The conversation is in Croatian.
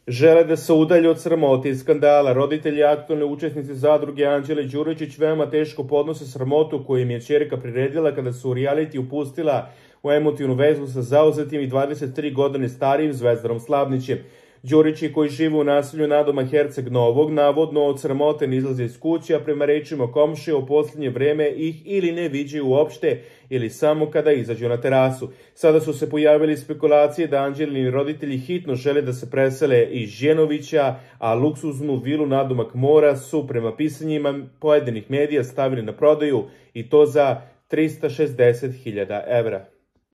Žele da se udalje od sramote i skandala. Roditelji aktualne učesnice zadruge Anđele Đuričić veoma teško podnose sramotu koju im je ćerka priredila kada su u reality upustila u emotivnu vezu sa zauzetim i 23 godine starijim Zvezdanom Slavnićem. Đurići, koji žive u naselju Nadoma Herceg Novog, navodno od sramote ne izlaze iz kuće, a prema rečima komšije u posljednje vreme ih ili ne viđaju uopšte ili samo kada izađu na terasu. Sada su se pojavili spekulacije da Anđelini roditelji hitno žele da se presele iz Ženovića, a luksuznu vilu nadomak mora su prema pisanjima pojedinih medija stavili na prodaju i to za 360.000 evra.